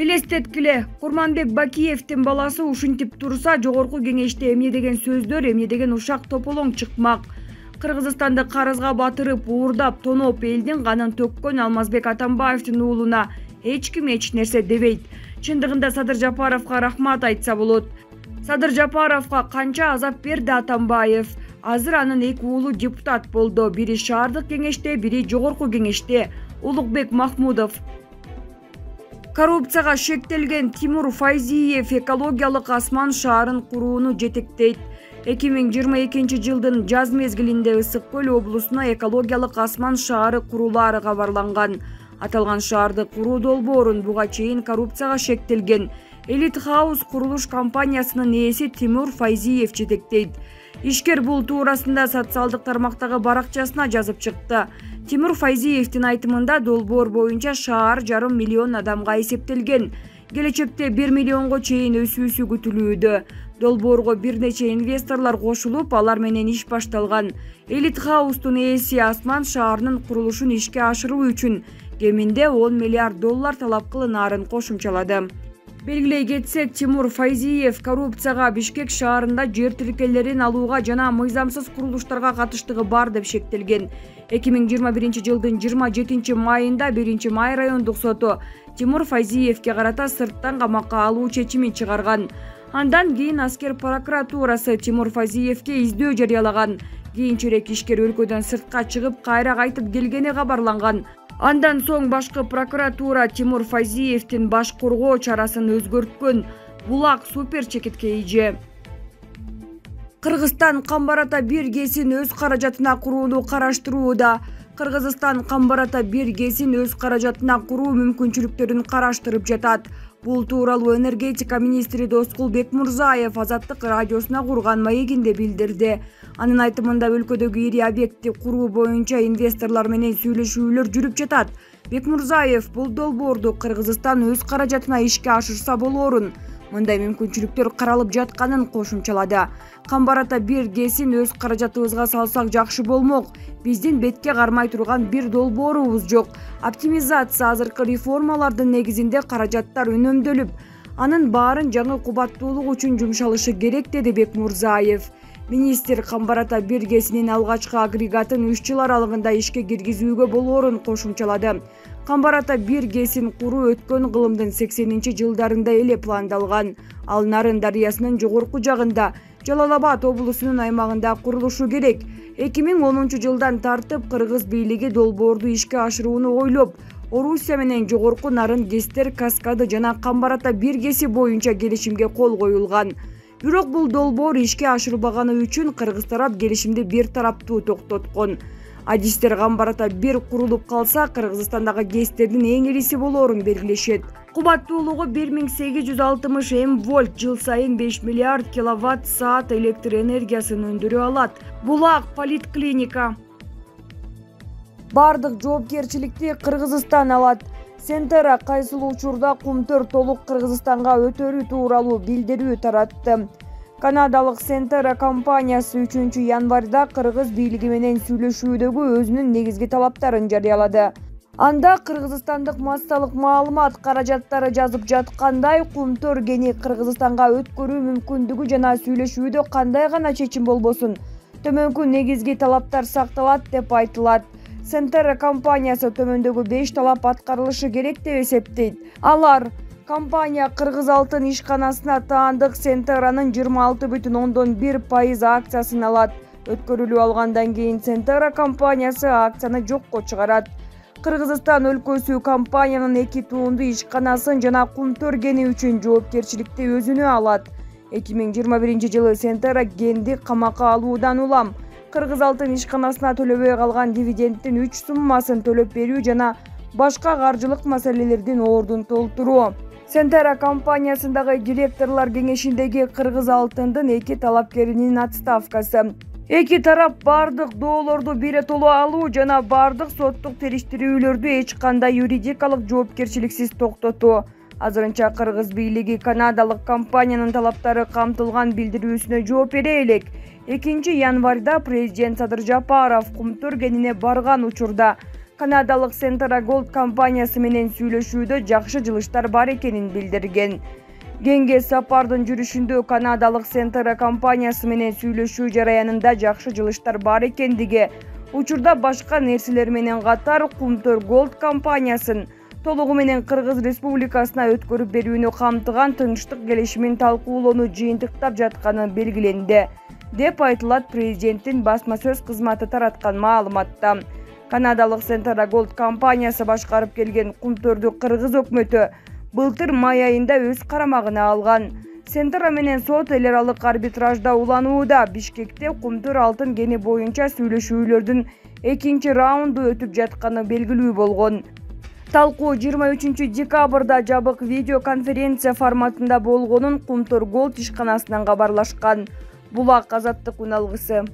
Элестеткиле, Курманбек Бакиевдин баласы ушинтип турса, жогорку кеңеште эмне деген сөздөр, эмне деген ушак тополоң чыкмак. Кыргызстанды карызга батырып, уурдап, тоноп элдин канын төккөн Алмазбек Атамбаевдин уулуна эч ким эч нерсе дебейт. Чындыгында Садыр Жапаровго рахмат айтса болот. Садыр Жапаровго канча азап берди Атамбаев. Азыр анын эки уулу депутат болду. Бири шаардык кеңеште, бири жогорку кеңеште. Улукбек Махмудов. Коррупцияга шектелген Тимур Файзиев экологиялык асман шаарын курууну жетектейт. 2022 жылдын жаз мезгилинде Ысык Көл облусуна экологиялык асман шаары курулаары кабарланган. Аталган шаарды куруу долбоорун буга чейин коррупцияга шектелген Элит Хаус курулуш компаниясынын ээси Тимур Файзиев жетектейт. Ишкер бул туурасында социалдык тармактагы баракчасына жазып чыкты. Тимур Файзиевдин айтымында долбоор боюнча шаар 1,5 миллион адамга эсептелген. Келечекте 1 миллионго чейин өсүүсү күтүлүүдө. Долбоорго бир нече инвесторлор кошулуп, алар менен иш башталган. Элит Хаустун ээси асман шаарынын курулушун ишке ашыруу үчүн кеминде 10 миллиард доллар талап кылынаарын кошумчалады. Белгилей кетсек, Тимур Файзиев коррупцияга Бишкек шаарында жер тилкелерин алууга жана мыйзамсыз курулуштарга катыштыгы бар деп шектелген. 2021 жылдын 27 майында 1 май райондук соту Тимур Файзиевге карата сырттан камакка алуу чечимин чыгарган. Андан кийин аскер прокуратурасы Тимур Файзиевге издөө жарыялаган. Кийинчерээк ишкер өлкөдөн сыртка чыгып, кайра кайтып келгени кабарланган. Андан соң башкы прокуратура Тимур Файзиевдин баш коргоо чарасын өзгөрткөн. Булак супер чекитке ийже. Кыргызстан Камбарата 1 ГЭСин өз каражатына курууну караштырууда. Кыргызстан Камбарата 1 ГЭСин өз каражатына куруу мүмкүнчүлүктөрүн караштырып жатат. Бул тууралуу энергетика министри Доскул Бекмурзаев Азаттык радиосуна курган маегинде билдирди. Анын айтымында өлкөдөгү ири объектти куруу боюнча инвесторлор менен сүйлөшүүлөр жүрүп жатат. Бекмурзаев бул долбоорду Кыргызстан өз каражатына ишке ашырса болоорун, мындай мүмкүнчүлүктөр каралып жатканын кошумчалады. Камбарата 1 ГЭСин өз каражатыбызга салсак жакшы болмок. Биздин бетке кармай турган бир долбоорубуз жок. Оптимизация азыркы реформалардын негизинде каражаттар үнөмдөлүп, анын баарын жаңы кубаттуулук үчүн жумшалышы керек, деди Бекмурзаев. Министр Камбарата 1 ГЭСинин алгачкы агрегатын 3 жыл аралыгында ишке киргизүүгө болоорун кошумчалады. Камбарата 1 ГЭСин куруу өткөн кылымдын 80-жылдарында эле пландалган. Ал Нарын дарыясынын жогорку жагында, Жалал Абад облусунун аймагында курулушу керек. 2010 жылдан тартып кыргыз бийлиги долбоорду ишке ашырууну ойлоп, Орусия менен жогорку Нарын ГЭСтер каскады жана Камбарата 1 ГЭСи боюнча келишимге кол коюлган. Бирок бул долбоор ишке ашырылбаганы үчүн кыргыз тарап келишимди бир тараптуу токтоткон. Адистер Камбарата 1 курулуп калса, Кыргызстандагы ГЭСтердин эң ириси болоорун белгилешет. Кубаттуулугу 1860 М-вольт, жыл сайын 5 миллиард киловатт саат электр энергиясын өндүрө алат. Булак политклиника. Бардык жоопкерчиликти Кыргызстан алат. Сентера кайсыл учурда Кумтөр толук Кыргызстанга өтөрү тууралуу билдирүү таратты. Канадалык Сентера компаниясы 3 январда кыргыз бийлиги менен сүйлөшүүдөгү өзүнүн негизги талаптарын жарыялады. Анда кыргызстандык массалык маалымат каражаттары жазып жаткандай, Кумтөр кени Кыргызстанга өткөрүү мүмкүндүгү жана сүйлөшүүдө кандай гана чечим болбосун, төмөнкү негизги талаптар сакталат деп айтылат. Сентера компаниясы төмөндөгү 5 талап аткарылышы керек деп эсептейт. Алар: компания Кыргыз алтын ишканасына таандык Сентеранын 26,1% акциясын алат. Өткөрүлүп алгандан кийин Сентера компаниясы акцияны жокко чыгарат. Кыргызстан өлкөсү компаниянын 2 туунду ишканасын жана Кумтөр кени үчүн жоопкерчиликти өзүнө алат. 2021 жылы Сентера кенди камакка алуудан улам Кыргыз алтын ишканасына төлөбөй калган дивидендтин 3 суммасын төлөп берүү жана башка каржылык маселелердин ордун толтуруу. Сентера компаниясындагы директорлор кеңешиндеги Кыргыз алтындын 2 талапкеринин отставкасы. Эки тарап бардык доолорду биротоло алуу жана бардык соттук териштирүүлөрдү эч кандай юридикалык жоопкерчиликсиз токтотуу. Азырынча кыргыз бийлиги канадалык компаниянын талаптары камтылган билдирүүсүнө жооп бере элек. 2 январда президент Садыр Жапаров Кумтөр кенине барган учурда канадалык Centera Gold компаниясы менен сүйлөшүүдө жакшы жылыштар бар экенин билдирген. Кеңге сапардын жүрүшүндө канадалык Centera компаниясы менен сүйлөшүү жараянында жакшы жылыштар бар экендиги, учурда башка нерселер менен катар Kumtor Gold компаниясын толугу менен Кыргыз Республикасына өткөрүп берүүнү камтыган тынчтык келишимин талкуулоону жыйынтыктап жатканы белгиленди, деп айтылат президенттин басма сөз кызматы тараткан маалыматта. Канадалык Centera Gold компаниясы башкарып келген Kumtorду Кыргыз өкмөтү былтыр май айында өз карамагына алган. Centera менен сот эл аралык арбитражда уланууда. Бишкекте Kumtor алтын кени боюнча сүйлөшүүлөрдүн экинчи раунду өтүп жатканы белгилүү болгон. Талкуу 23 декабрда жабык видео конференция форматында болгонун Kumtor Gold ишканасынан кабарлашкан. Булак Азаттык үналгысы.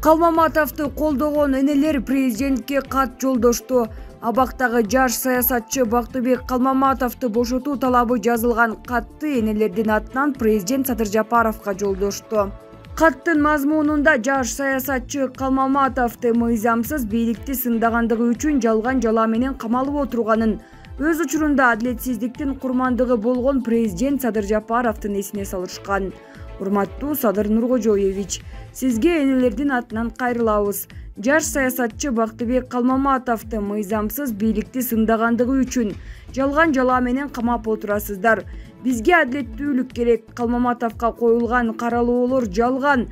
Калмаматовду колдогон энелер президентке кат жолдошту. Абактагы жаш саясатчы Бактыбек Калмаматовду бошотуу талабы жазылган катты энелердин атынан президент Садыр Жапаровго жолдошту. Каттын мазмунунда жаш саясатчы Калмаматовду мыйзамсыз бийликти сындагандыгы үчүн жалган жала менен камалып отурганын, өз учурунда адилетсиздиктин курмандыгы болгон президент Садыр Жапаровдун эсине салышкан. Урматтуу Садыр Нуркожоевич, сизге энелердин атынан кайрылабыз. Жаш саясатчы Бактыбек Калмаматовду мыйзамсыз бийликти сындагандыгы үчүн жалган жала менен камап отурасыздар. Бизге адилеттүүлүк керек. Калмаматовго коюлган каралоолор жалган.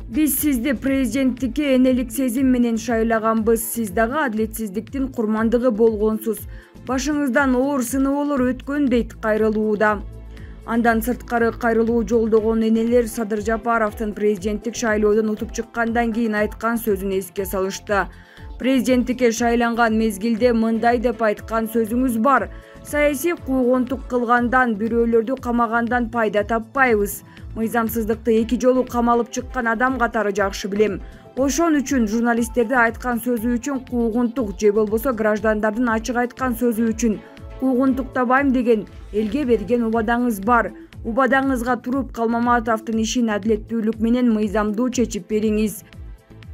Биз сизди президенттикке энелик сезим менен шайлаганбыз. Сиз дагы адилетсиздиктин курмандыгы болгонсуз. Башыңыздан оор сыноолор өткөн, дейт кайрылууда. Андан сырткары кайрылуу жолдогон энелер Садыр Жапаровдун президенттик шайлоодон утуп чыккандан кийин айткан сөзүн эске салышты. Президенттикке шайланган мезгилде мындай деп айткан сөзүңүз бар. Саясий куугунтук кылгандан, бирөөлөрдү камагандан пайда таппайбыз. Мыйзамсыздыкты эки жолу камалып чыккан адам катары жакшы билем. Ошон үчүн журналисттерди айткан сөзү үчүн куугунтук же болбосо граждандардын ачык айткан сөзү үчүн куугунтуктабайм деген элге берген убадаңыз бар. Убадаңызга туруп Калмаматовдун ишин адилеттүүлүк менен мыйзамдуу чечип бериңиз.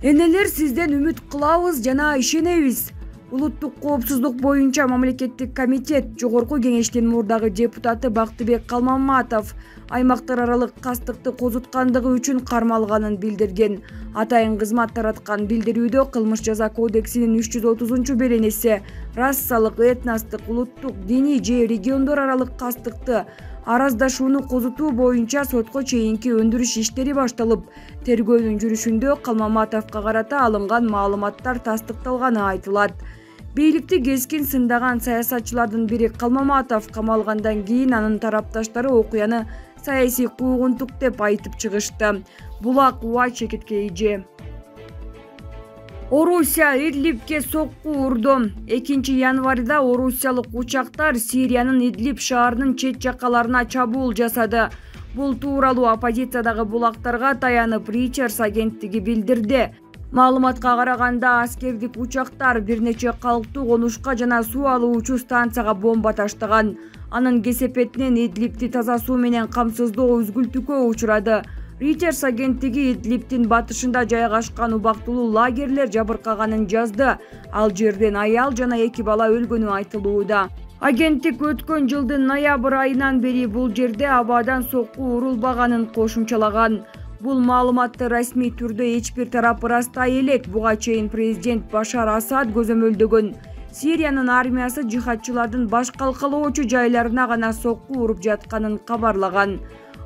Энелер сизден үмүт кылабыз жана ишенебиз. Улуттук коопсуздук боюнча мамлекеттик комитет жогорку кеңештин мурдагы депутаты Бактыбек Калмаматов аймактар аралык кастыкты козуткандыгы үчүн кармалганын билдирген. Атайын кызмат тараткан билдирүүдө кылмыш жаза кодексинин 330-беренеси расалык, этностук, улуттук, диний же региондор аралык кастыкты араздашууну козутуу боюнча сотко чейинки өндүрүш иштери башталып, тергөөнүн жүрүшүндө Калмаматовго карата алынган маалыматтар тастыкталганы айтылат. Бийликти кескин сындаган саясатчылардын бири Калмаматов камалгандан кийин анын тарапташтары окуяны саясий куугунтук деп айтып чыгышты. Булак УАЧ. Орусия Идлибке сокку урду. 2 январда орусиялык учактар Сириянын Идлиб шаарынын чет жакаларына чабуул жасады. Бул тууралуу оппозициядагы булактарга таянып Reuters агенттиги билдирди. Маалыматка караганда аскердик учактар бир нече калктуу конушка жана суу алуучу станцияга бомба таштаган. Анын кесепетинен Идлибти таза суу менен камсыздоо үзгүлтүүгө учурады. Reuters агенттиги Идлибтин батышында жайгашкан убактылуу лагерлер жабыркаганын жазды. Ал жерден аял жана 2 бала өлгөнү айтылууда. Агенттик өткөн жылдын ноябрь айынан бери бул жерде абадан сокку урулбаганын кошумчалаган. Бул маалыматты расмий түрдө эч бир тарап ырастай элек. Буга чейин президент Башар Асад көзөмөлдөгөн Сириянын армиясы жихадчылардын баш калкалоочу жайларына гана сокку уруп жатканын кабарлаган.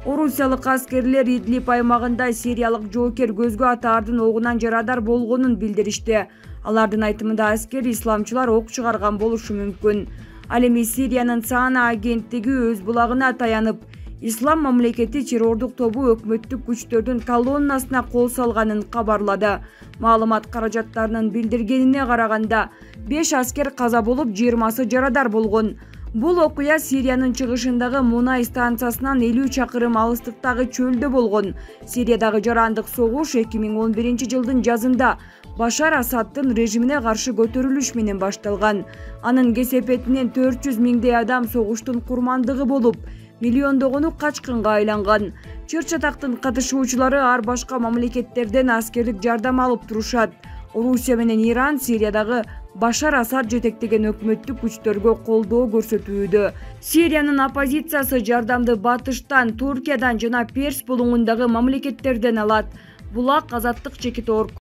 Орусиялык аскерлер Идлиб аймагында сириялык жоокер көзгө атаардын огунан жарадар болгонун билдиришти. Алардын айтымында аскер исламчылар ок чыгарган болушу мүмкүн. Ал эми Сириянын Сана агенттиги өз булагына таянып, Ислам мамлекети террордук тобу өкмөттүк күчтөрдүн колоннасына кол салганын кабарлады. Маалымат каражаттарынын билдиргенине караганда 5 аскер каза болуп, 20сы жарадар болгон. Бул окуя Сириянын чыгышындагы мунай станциясынан 50 чакырым алыстыктагы чөлдө болгон. Сириядагы жарандык согуш 2011 жылдын жазында Башар Асаддын режимине каршы көтөрүлүш менен башталган. Анын кесепетинен 400 миңдей адам согуштун курмандыгы болуп, миллиондогону качкынга айланган. Чыр-чатактын катышуучулары ар башка мамлекеттерден аскерлик жардам алып турушат. Орусия менен Иран Сириядагы Башар Асад жетектеген өкмөттүк күчтөргө колдоо көрсөтүүдө. Сириянын оппозициясы жардамды Батыштан, Туркиядан жана Перс булуңундагы мамлекеттерден алат. Булак азаттык чекит орг